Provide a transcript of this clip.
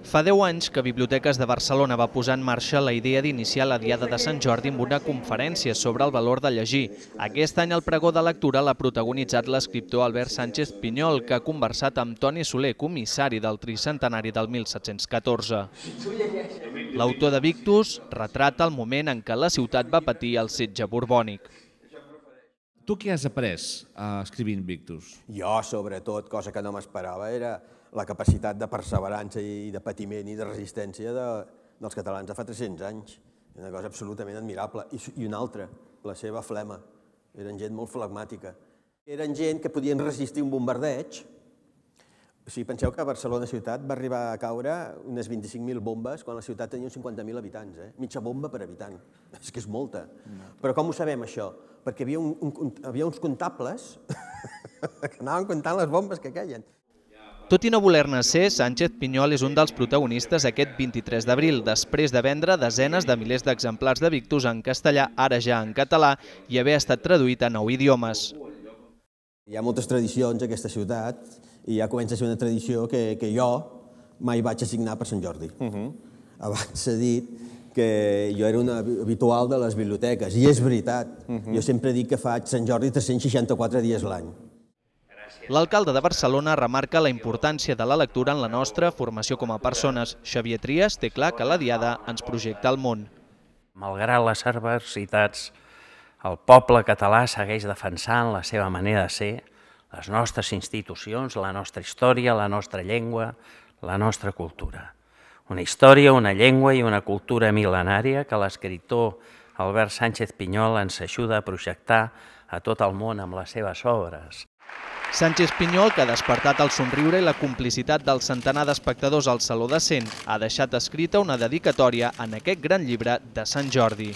Fa 10 anys que Biblioteques de Barcelona va posar en marxa la idea d'iniciar la Diada de Sant Jordi amb una conferència sobre el valor de llegir. Aquest any el pregó de lectura l'ha protagonitzat l'escriptor Albert Sánchez Pinyol, que ha conversat amb Toni Soler, comissari del tricentenari del 1714. L'autor de Victus retrata el moment en què la ciutat va patir el setge borbònic. Tu què has après escrivint Victus? Jo, sobretot, cosa que no m'esperava, era la capacitat de perseverança i de patiment i de resistència dels catalans de fa 300 anys. Una cosa absolutament admirable. I una altra, la seva flema. Eren gent molt flegmàtica. Eren gent que podien resistir un bombardeig. O sigui, penseu que a Barcelona ciutat va arribar a caure unes 25.000 bombes quan la ciutat tenia uns 50.000 habitants. Mitja bomba per habitant. És que és molta. Però com ho sabem, això? Perquè havia uns comptables que anaven comptant les bombes que queien. Tot i no voler-ne ser, Sánchez Pinyol és un dels protagonistes aquest 23 d'abril, després de vendre desenes de milers d'exemplars de Victus en castellà, ara ja en català, i haver estat traduït a 9 idiomes. Hi ha moltes tradicions a aquesta ciutat i ja comença a ser una tradició que jo mai vaig assignar per Sant Jordi. Abans s'ha dit que jo era un habitual de les biblioteques, i és veritat. Jo sempre dic que faig Sant Jordi 364 dies l'any. L'alcalde de Barcelona remarca la importància de la lectura en la nostra formació com a persones. Xavier Trias té clar que la Diada ens projecta al món. Malgrat les adversitats, el poble català segueix defensant la seva manera de ser, les nostres institucions, la nostra història, la nostra llengua, la nostra cultura. Una història, una llengua i una cultura mil·lenària que l'escriptor Albert Sánchez Pinyol ens ajuda a projectar a tot el món amb les seves obres. Sánchez Pinyol, que ha despertat el somriure i la complicitat del centenar d'espectadors al Saló de Cent, ha deixat escrita una dedicatòria en aquest gran llibre de Sant Jordi.